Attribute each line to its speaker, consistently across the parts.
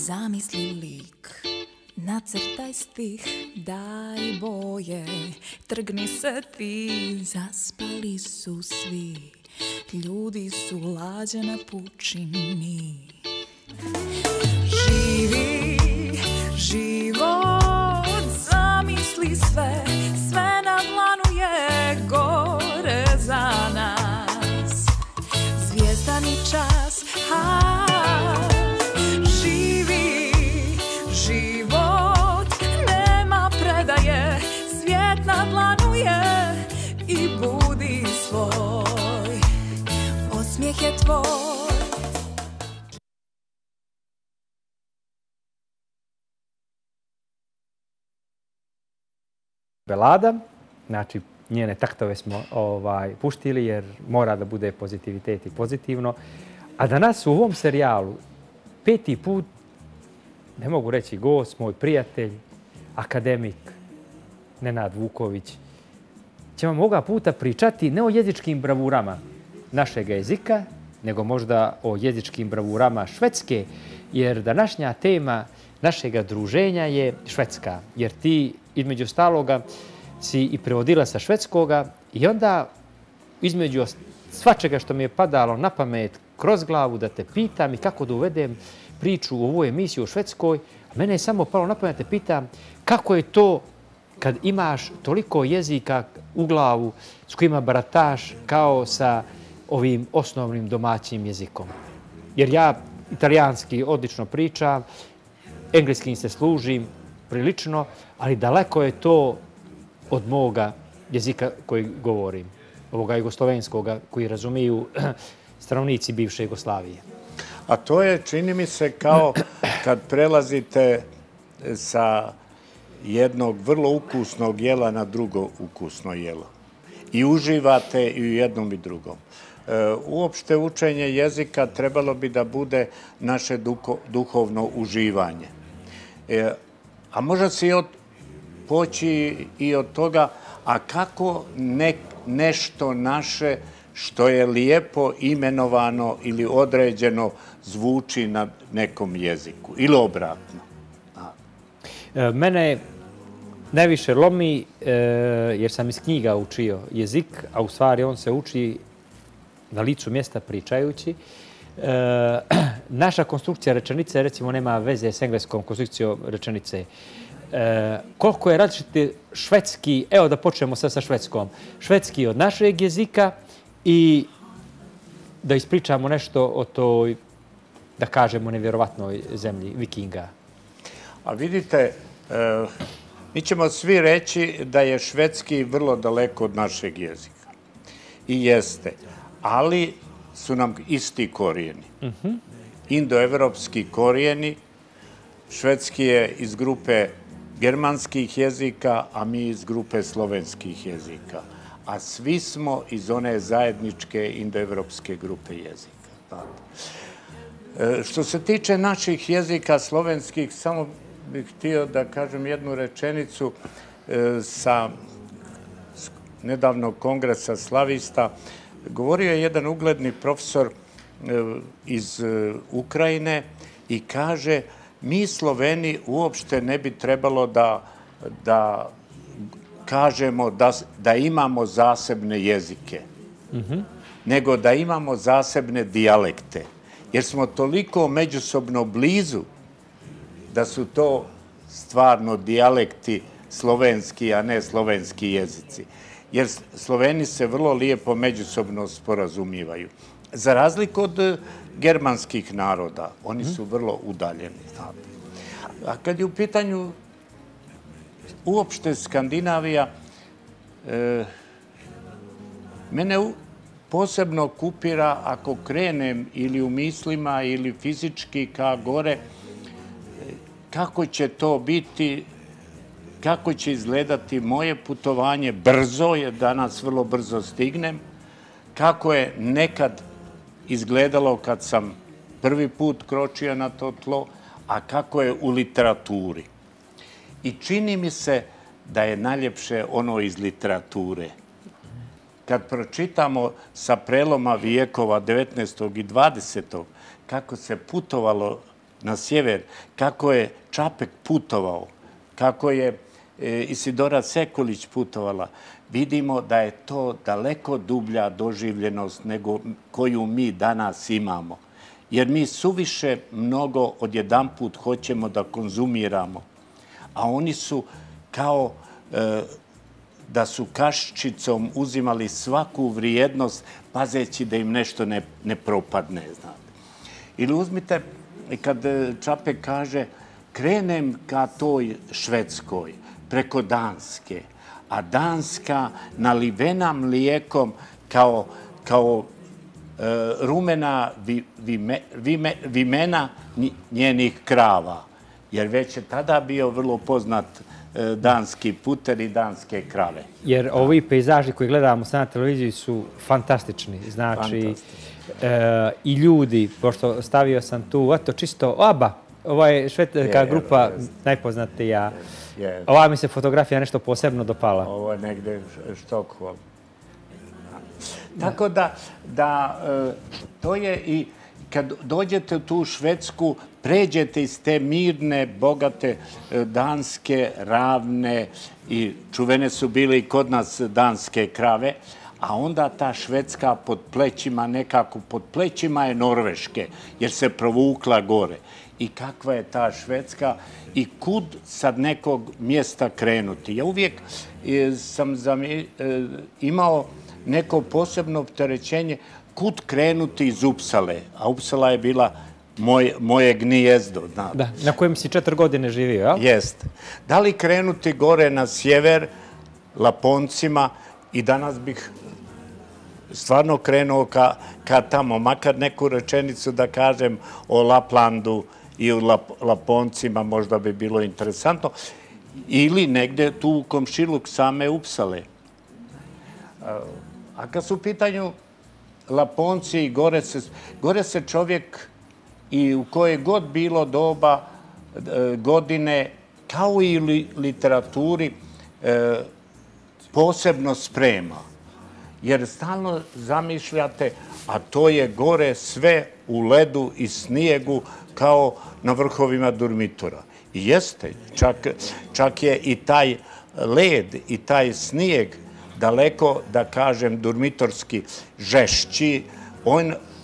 Speaker 1: Zamisli lik, nacrtaj stih, daj boje, trgni se ti, zaspali su svi, ljudi su lađe na pučini. Živi život, zamisli sve, sve na dlanu je gore za nas. Zvijezdani čas, živi život, nema predaje, svijet na dlanu je i budi svoj, osmijeh je tvoj.
Speaker 2: Belada, znači njene taktove smo puštili jer mora da bude pozitivitet i pozitivno. A danas u ovom serijalu 5. put, ne mogu reći gost, moj prijatelj, akademik Nenad Vuković, će vam ovoga puta pričati ne o jezičkim bravurama našeg jezika, nego možda o jezičkim bravurama Švedske, jer današnja tema našega druženja je Švedska, jer ti između ostaloga si i prevodila sa švedskoga i onda između svačega što mi je padalo na pamet kroz glavu da te pitam i kako da uvedem priču u ovu emisiju o Švedskoj, mene je samo palo na pamet da te pitam kako je to kad imaš toliko jezika u glavu s kojima barataš kao sa ovim osnovnim domaćim jezikom. Jer ja italijanski odlično pričam, engleskim se služim prilično, ali daleko je to od moga jezika koji govorim, ovoga jugoslovenskoga koji razumiju stanovnici bivše Jugoslavije.
Speaker 3: A to je, čini mi se, kao kad prelazite sa jednog vrlo ukusnog jela na drugo ukusno jelo. I uživate i u jednom i drugom. Uopšte učenje jezika trebalo bi da bude naše duhovno uživanje. A može se poći i od toga, a kako nešto naše što je lijepo imenovano ili određeno zvuči na nekom jeziku ili obratno.
Speaker 2: Mene najviše lomi jer sam iz knjiga učio jezik, a u stvari on se uči na licu mjesta pričajući. Naša konstrukcija rečenice, recimo, nema veze s engleskom konstrukcijom rečenice. Koliko je različiti švedski, evo da počnemo sad sa švedskom, švedski od našeg jezika i da ispričamo nešto o toj, da kažemo, nevjerovatnoj zemlji Vikinga.
Speaker 3: A vidite, mi ćemo svi reći da je švedski vrlo daleko od našeg jezika. I jeste, ali su nam isti korijeni. Indoevropski korijeni, švedski je iz grupe germanskih jezika, a mi iz grupe slovenskih jezika. A svi smo iz one zajedničke indoevropske grupe jezika. Što se tiče naših jezika slovenskih, samo bih htio da kažem jednu rečenicu sa nedavnog kongresa slavista. Govorio je jedan ugledni profesor iz Ukrajine i kaže: mi Sloveni uopšte ne bi trebalo da kažemo da imamo zasebne jezike, nego da imamo zasebne dijalekte, jer smo toliko međusobno blizu da su to stvarno dijalekti slovenski, a ne slovenski jezici. Jer Sloveni se vrlo lijepo međusobno sporazumijevaju. Za razliku od germanskih naroda, oni su vrlo udaljeni. A kad je u pitanju uopšte Skandinavija, mene posebno kupira ako krenem ili u mislima ili fizički ka gore, kako će to biti, kako će izgledati moje putovanje brzo, jer danas vrlo brzo stignem, kako je nekad izgledalo kad sam prvi put kročio na to tlo, a kako je u literaturi. I čini mi se da je najljepše ono iz literature. Kad pročitamo sa preloma vijekova 19. i 20. kako se putovalo na sjever, kako je Čapek putovao, kako je Isidora Sekulić putovala, vidimo da je to daleko dublja doživljenost nego koju mi danas imamo. Jer mi suviše mnogo odjedanput hoćemo da konzumiramo, a oni su kao da su kaščicom uzimali svaku vrijednost, pazeći da im nešto ne propadne, znate. Ili uzmite, kad Čapek kaže, krenem ka toj Švedskoj, preko Danske, a Danska nalivena mlijekom kao rumena vimena njenih krava. Jer već je tada bio vrlo poznat danski puter i danske krave.
Speaker 2: Jer ovi pejzaži koji gledamo na televiziji su fantastični. Znači, i ljudi, pošto stavio sam tu, eto čisto, ova je švedska grupa najpoznatija. Ova mi se fotografija nešto posebno dopala.
Speaker 3: Ovo je negde Štokholm. Tako da to je i kad dođete u tu Švedsku, pređete iz te mirne, bogate danske, ravne i čuvene su bile i kod nas danske krave, a onda ta Švedska pod plećima, nekako pod plećima je Norveške, jer se provukla gore. I kakva je ta Švedska i kud sad nekog mjesta krenuti. Ja uvijek sam imao neko posebno opterećenje kud krenuti iz Upsale, a Upsala je bila moje gnijezdo.
Speaker 2: Da, na kojem si 4 godine živio, jel?
Speaker 3: Jeste. Da li krenuti gore na sjever, Laponcima, i danas bih stvarno krenuo ka tamo, makar neku rečenicu da kažem o Laplandu i o Laponcima, možda bi bilo interesantno, ili negde tu u komšiluk same Upsale. A kad su u pitanju Laponci i gore se čovjek i u koje god bilo doba, godine, kao i u literaturi, posebno sprema. Jer stalno zamišljate, a to je gore sve u ledu i snijegu kao na vrhovima Durmitora. I jeste, čak je i taj led i taj snijeg daleko, da kažem, durmitorski žešći.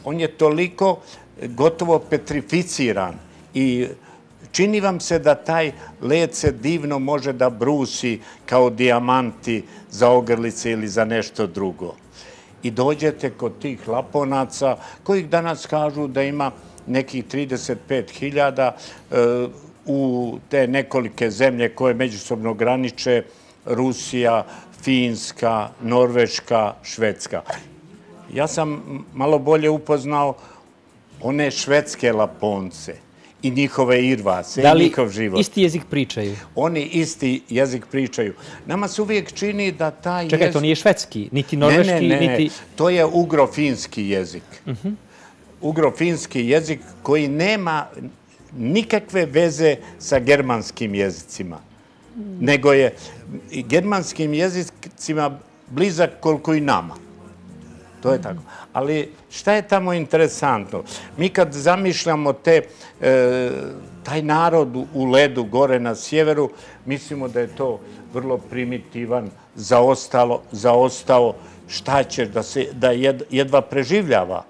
Speaker 3: On je toliko gotovo petrificiran i čini vam se da taj led se divno može da brusi kao dijamanti za ogrlice ili za nešto drugo. I dođete kod tih Laponaca, kojih danas kažu da ima nekih 35.000 u te nekolike zemlje koje međusobno graniče, Rusija, Finska, Norveška, Švedska. Ja sam malo bolje upoznao one švedske Laponce i njihove irvase i njihov život.
Speaker 2: Da li isti jezik pričaju?
Speaker 3: Oni isti jezik pričaju. Nama se uvijek čini da taj jezik...
Speaker 2: Čekaj, to nije švedski, niti norveški, niti...
Speaker 3: Ne, to je ugro-finski jezik. Ugro-finski jezik koji nema nikakve veze sa germanskim jezicima, nego je germanskim jezicima blizak koliko i nama. To je tako. Ali šta je tamo interesantno? Mi kad zamišljamo taj narod u ledu gore na sjeveru, mislimo da je to vrlo primitivan, zaostao, šta će, da jedva preživljava.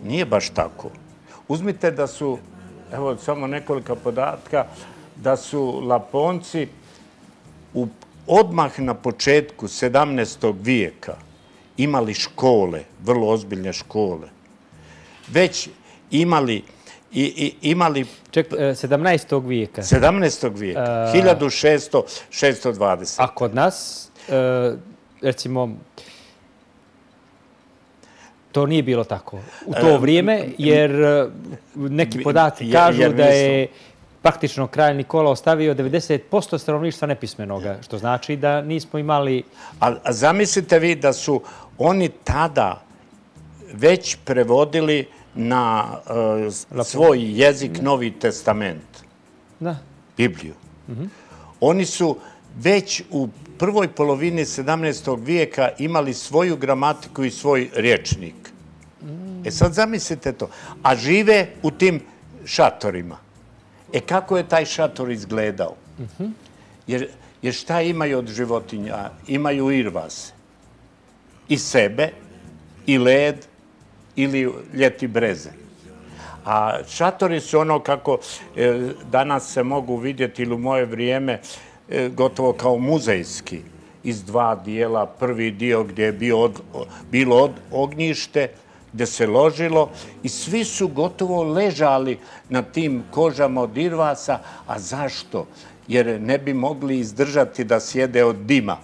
Speaker 3: Nije baš tako. Uzmite da su, evo samo nekoliko podatka, da su Laponci odmah na početku 17. vijeka imali škole, vrlo ozbiljne škole. Već imali...
Speaker 2: Ček, 17. vijeka.
Speaker 3: 17. vijeka, 1620.
Speaker 2: A kod nas, recimo, to nije bilo tako u to vrijeme, jer neki podaci kažu da je praktično kralj Nikola ostavio 90% stanovništva nepismenoga, što znači da nismo imali...
Speaker 3: A zamislite vi da su oni tada već prevodili na svoj jezik Novi testament, Bibliju. Oni su već u prvoj polovini 17. vijeka imali svoju gramatiku i svoj rječnik. Sad zamislite to. A žive u tim šatorima. Kako je taj šator izgledao? Jer šta imaju od životinja? Imaju irvase. I sebe, i led, ili ljeti breze. A šatori su ono kako danas se mogu vidjeti ili u moje vrijeme gotovo kao muzejski. Iz dva dijela. Prvi dio gdje je bilo ognjište, gdje se ložilo i svi su gotovo ležali na tim kožama od irvasa. A zašto? Jer ne bi mogli izdržati da sjede od dima.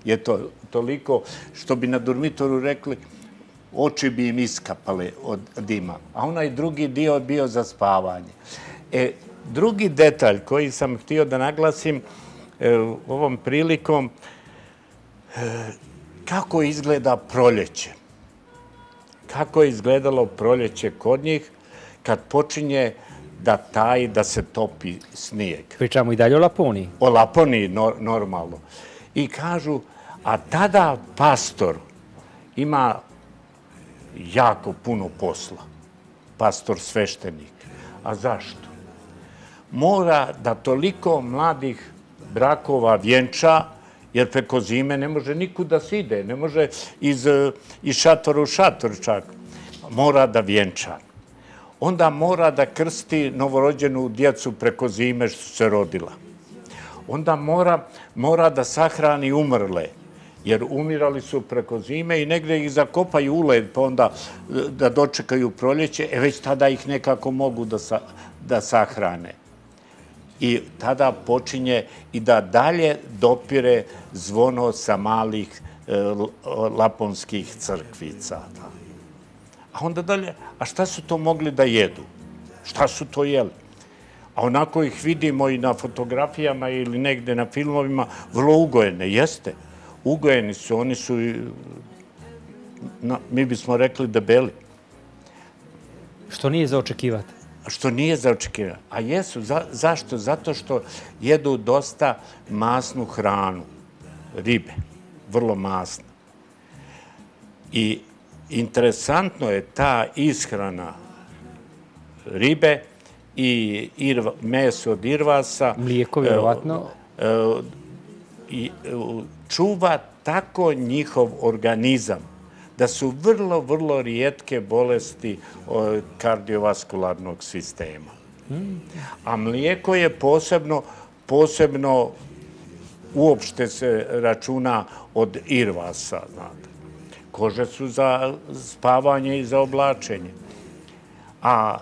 Speaker 3: Je to toliko što bi na dormitoru rekli oči bi im iskapale od dima. A onaj drugi dio je bio za spavanje. Drugi detalj koji sam htio da naglasim ovom prilikom, kako izgleda proljeće. Kako je izgledalo proljeće kod njih kad počinje da taji, da se topi snijeg.
Speaker 2: Pričamo i dalje o Laponiji.
Speaker 3: O Laponiji, normalno. I kažu, a tada pastor ima jako puno posla. Pastor sveštenik. A zašto? Mora da toliko mladih brakova vjenča, jer preko zime ne može nikud da se ide, ne može iz šatora u šator čak. Mora da vjenča. Onda mora da krsti novorođenu djecu preko zime što se rodila. Onda mora da sahrani umrle, jer umirali su preko zime i negdje ih zakopaju u led, pa onda da dočekaju proljeće, već tada ih nekako mogu da sahrane. I tada počinje i da dalje dopire zvono sa malih laponskih crkvica. A onda dalje, a šta su to mogli da jedu? Šta su to jeli? A onako ih vidimo i na fotografijama ili negde na filmovima, vrlo ugojene, jeste. Ugojeni su, oni su, mi bismo rekli, debeli.
Speaker 2: Što nije za očekivati?
Speaker 3: Što nije za očekivati. A jesu, zašto? Zato što jedu dosta masnu hranu, ribe, vrlo masna. I interesantno je ta ishrana ribe i meso od irvasa.
Speaker 2: Mlijeko, vjerovatno.
Speaker 3: Čuva tako njihov organizam da su vrlo, vrlo rijetke bolesti kardiovaskularnog sistema. A mlijeko je posebno uopšte se računa od irvasa, znate. Kože su za spavanje i za oblačenje. A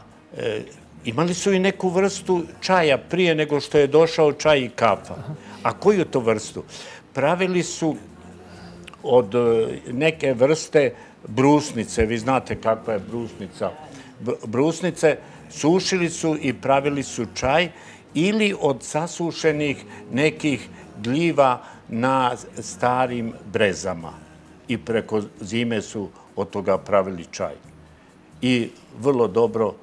Speaker 3: imali su i neku vrstu čaja prije nego što je došao čaj i kafa. A koju to vrstu? Pravili su od neke vrste brusnice. Vi znate kakva je brusnica. Brusnice sušili su i pravili su čaj ili od sasušenih nekih gljiva na starim brezama. I preko zime su od toga pravili čaj. I vrlo dobro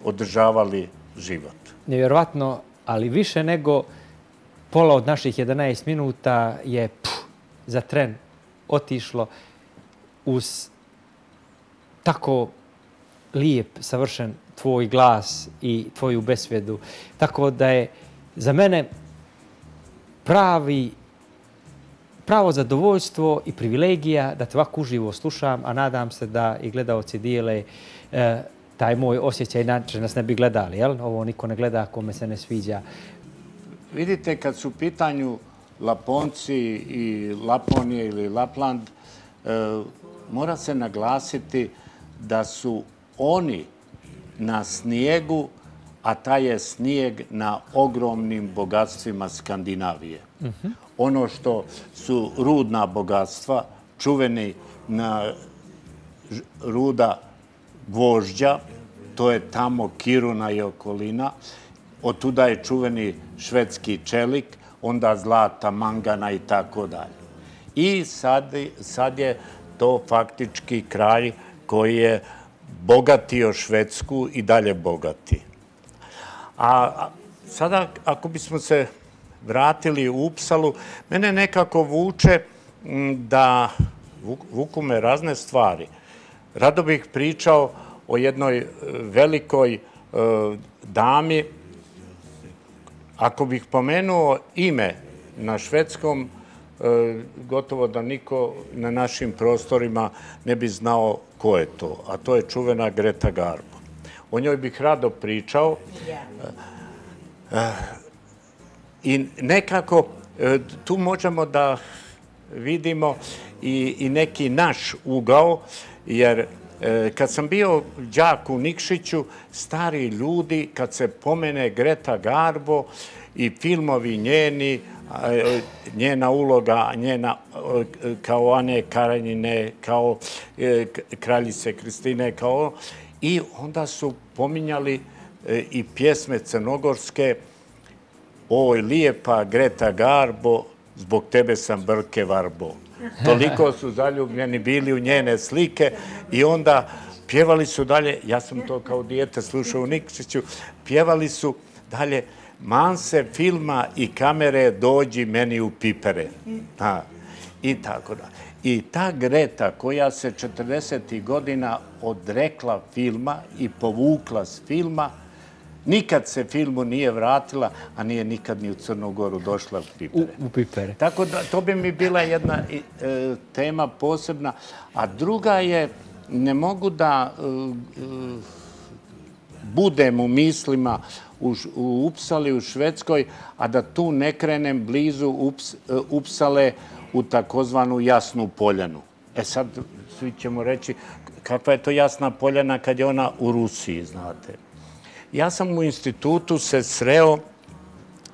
Speaker 3: održavali život.
Speaker 2: Nevjerovatno, ali više nego pola od naših 11 minuta je za tren otišlo uz tako lijep, savršen tvoj glas i tvoju besvedu. Tako da je za mene pravo zadovoljstvo i privilegija da te ovako uživo slušam, a nadam se da i gledaoci dijele taj moj osjećaj, inače nas ne bi gledali, jel? Ovo niko ne gleda kome se ne sviđa.
Speaker 3: Vidite, kad su u pitanju Laponci i Laponije ili Lapland, mora se naglasiti da su oni na snijegu, a taj je snijeg na ogromnim bogatstvima Skandinavije. Ono što su rudna bogatstva, čuveni na ruda gvožđa, to je tamo Kiruna i okolina, od tuda je čuveni švedski čelik, onda zlata, mangana i tako dalje. I sad je to faktički kraj koji je bogatio Švedsku i dalje bogati. A sada, ako bismo se vratili u Upsalu, mene nekako vuče da vuku me razne stvari. Rado bih pričao o jednoj velikoj dami. Ako bih pomenuo ime na švedskom, gotovo da niko na našim prostorima ne bi znao ko je to, a to je čuvena Greta Garbo. O njoj bih rado pričao i nekako tu možemo da vidimo i neki naš ugao, jer kad sam bio đak u Nikšiću, stari ljudi, kad se pomene Greta Garbo i filmovi njeni, njena uloga, njena kao Ane Karenjine, kao kraljice Kristine, kao i onda su pominjali i pjesme crnogorske: oj, lijepa Greta Garbo, zbog tebe sam brke varbo. Toliko su zaljubljeni bili u njene slike i onda pjevali su dalje, ja sam to kao dijete slušao u Nikšiću, pjevali su dalje: man se filma i kamere, dođi meni u pipere. I tako da. I ta Greta koja se 40. godina odrekla filma i povukla s filma, nikad se filmu nije vratila, a nije nikad ni u Crnu Goru došla u pipere.
Speaker 2: U pipere.
Speaker 3: Tako da, to bi mi bila jedna tema posebna. A druga je, ne mogu da budem u mislima u Upsali, u Švedskoj, a da tu ne krenem blizu Upsale u takozvanu Jasnu Poljanu. Sad svi ćemo reći kakva je to Jasna Poljana kad je ona u Rusiji, znate. Ja sam u institutu se sreo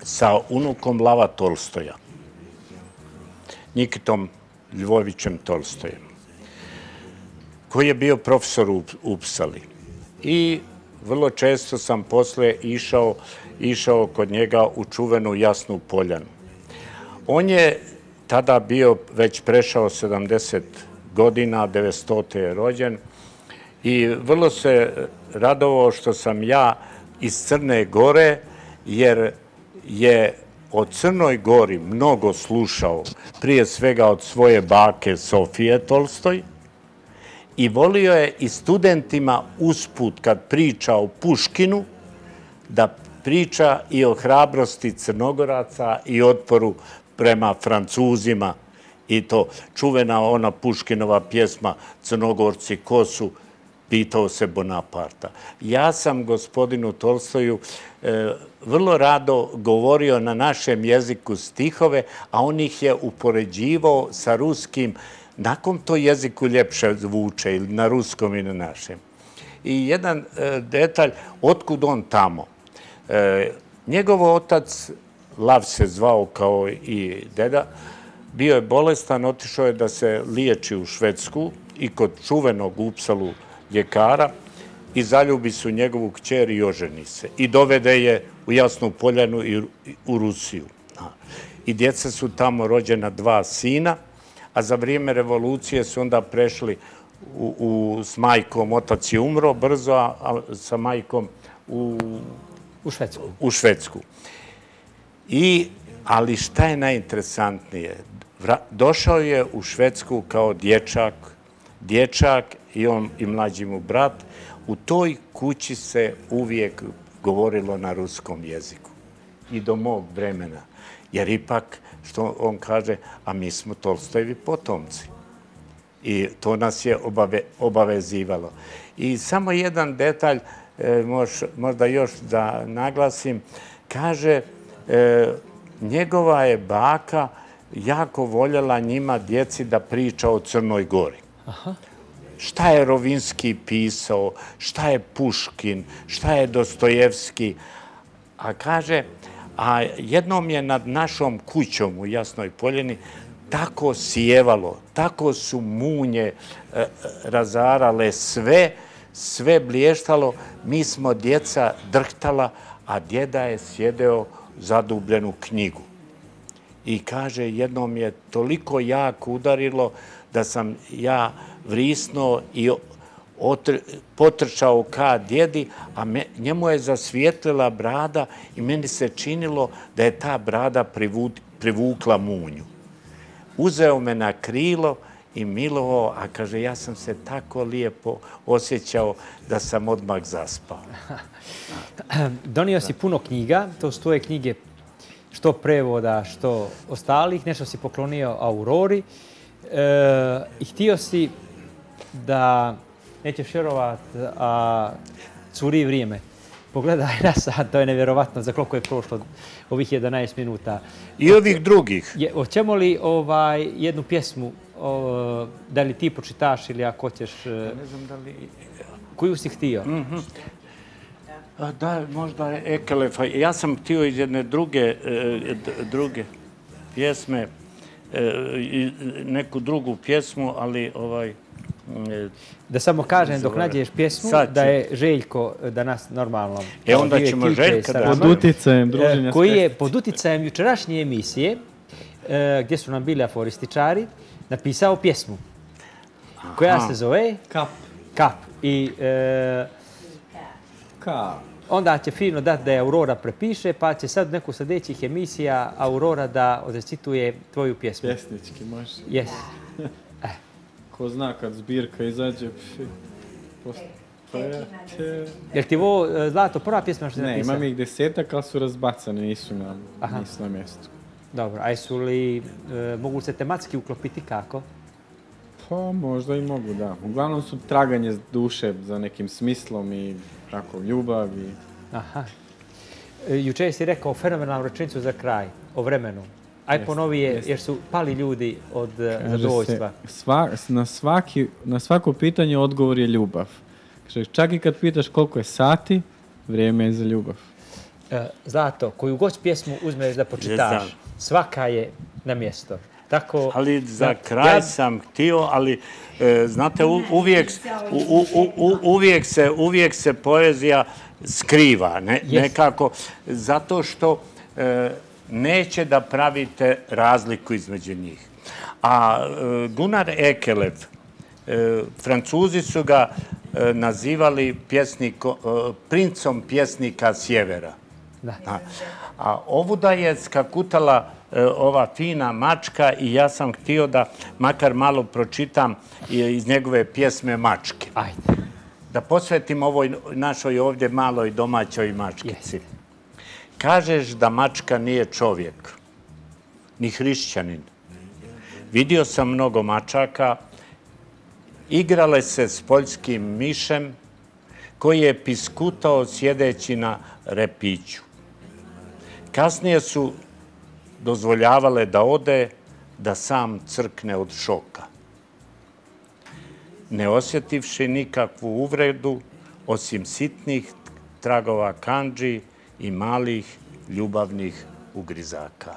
Speaker 3: sa unukom Lava Tolstoja, Nikitom Ljovićem Tolstojem, koji je bio profesor u Upsali. I vrlo često sam posle išao kod njega u čuvenu Jasnu Poljanu. On je tada bio već prešao 70 godina, 900. je rođen, i vrlo se radovao što sam ja iz Crne Gore, jer je o Crnoj Gori mnogo slušao, prije svega od svoje bake Sofije Tolstoj, i volio je i studentima usput, kad priča o Puškinu, da priča i o hrabrosti Crnogoraca i otporu prema Francuzima. I to čuvena ona Puškinova pjesma Crnogorci ko su, pitao se Bonaparta. Ja sam gospodinu Tolstoju vrlo rado govorio na našem jeziku stihove, a on ih je upoređivao sa ruskim. Nakon to jeziku ljepše zvuče, ili na ruskom i na našem. I jedan detalj, otkud on tamo. Njegov otac, Lav se zvao kao i deda, bio je bolestan, otišao je da se liječi u Švedsku i kod čuvenog u Upsalu ljekara i zaljubi su njegovu kćer i oženi se. I dovede je u Jasnu Poljanu i u Rusiju. I djeca su tamo rođena 2 sina, a za vrijeme revolucije su onda prešli s majkom, otac je umro brzo, a sa majkom u Švedsku. Ali šta je najinteresantnije? Došao je u Švedsku kao dječak i on i mlađi mu brat. U toj kući se uvijek govorilo na ruskom jeziku. I do mog vremena. Jer ipak, što on kaže, a mi smo Tolstojevi potomci. I to nas je obavezivalo. I samo jedan detalj, možda još da naglasim, kaže, njegova je baka jako voljela njima, djeci, da priča o Crnoj Gori. Šta je Rovinski pisao, šta je Puškin, šta je Dostojevski. A kaže, a jednom je nad našom kućom u Jasnoj Poljani tako sjevalo, tako su munje razarale sve blještalo, mi smo djeca drhtala, a djeda je sjedeo zadubljen u knjigu. I kaže, jednom je toliko jako udarilo da sam ja vrisnuo i potrčao ka djedi, a njemu je zasvijetlila brada i meni se činilo da je ta brada privukla munju. Uzeo me na krilo i milovao, a kaže, ja sam se tako lijepo osjećao da sam odmah zaspao.
Speaker 2: Donio si puno knjiga, to su tvoje knjige, što prevoda, što ostalih, nešto si poklonio Aurori i htio si da, nećeš vjerovat, curi vrijeme. Pogledaj na sat, to je nevjerovatno za koliko je prošlo ovih 11 minuta.
Speaker 3: I ovih drugih.
Speaker 2: Hoćemo li jednu pjesmu, da li ti počitaš ili ako hoćeš,
Speaker 3: Ne znam da li...
Speaker 2: koju si htio?
Speaker 3: Da, možda Ekelefa. Ja sam htio iz jedne druge pjesme, neku drugu pjesmu, ali
Speaker 2: Da samo kažem dok nađeš pjesmu da je Željko danas normalno.
Speaker 3: Onda ćemo Željka da...
Speaker 4: Pod uticajem druženja.
Speaker 2: Koji je pod uticajem jučerašnje emisije, gdje su nam bili aforističari, napisao pjesmu koja se zove Kap. I onda će fino dati da je Aurora prepiše, pa će sad neku sljedećih emisija Aurora da odrecituje tvoju pjesmu.
Speaker 4: Pjesnički, može.
Speaker 2: Jes.
Speaker 4: Ko zna kad zbirka izađe,
Speaker 2: Jel ti ovo, Zlato, prva pjesma što si napisao?
Speaker 4: Ne, imam ih 10, ali su razbacane, nisu na mjestu.
Speaker 2: Dobro, a jesu li, mogu se tematski uklopiti kako?
Speaker 4: Pa možda i mogu, da. Uglavnom su traganje duše za nekim smislom i tako, ljubav i...
Speaker 2: Aha. Jučer si rekao fenomenalnu rečenicu za kraj, o vremenu. Aj ponovi je, jer su pali ljudi od zadovoljstva.
Speaker 4: Na svako pitanje odgovor je ljubav. Čak i kad pitaš koliko je sati, vrijeme je za ljubav.
Speaker 2: Zlato, koju god pjesmu uzmeš da počitaš, svaka je na mjesto. Tako,
Speaker 3: ali za kraj sam htio, ali znate, uvijek se poezija skriva, nekako, zato što neće da pravite razliku između njih. A Gunnar Ekelef, Francuzi su ga nazivali princom pjesnika sjevera. A ovuda je skakutala ova fina mačka i ja sam htio da makar malo pročitam iz njegove pjesme Mačke.
Speaker 2: Ajde.
Speaker 3: Da posvetim ovoj našoj ovdje maloj domaćoj mačkici. Kažeš da mačka nije čovjek, ni hrišćanin. Vidio sam mnogo mačaka, igrale se s poljskim mišem koji je piskutao sjedeći na repiću. Kasnije su dozvoljavale da ode, da sam crkne od šoka. Ne osjetivši nikakvu uvredu, osim sitnih tragova kandži i malih ljubavnih ugrizaka.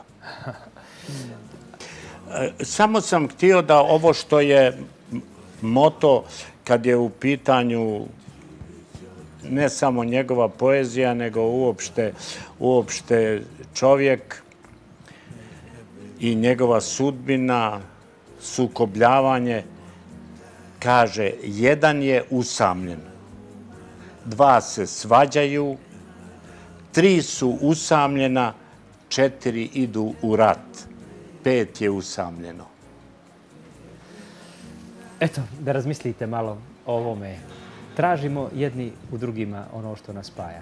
Speaker 3: Samo sam htio da ovo što je moto kad je u pitanju ne samo njegova poezija, nego uopšte čovjek i njegova sudbina, sukobljavanje, kaže, jedan je usamljen, 2 se svađaju, 3 su usamljena, 4 idu u rat, 5 je usamljeno.
Speaker 2: Eto, da razmislite malo o ovome. Tražimo jedni u drugima ono što nas spaja.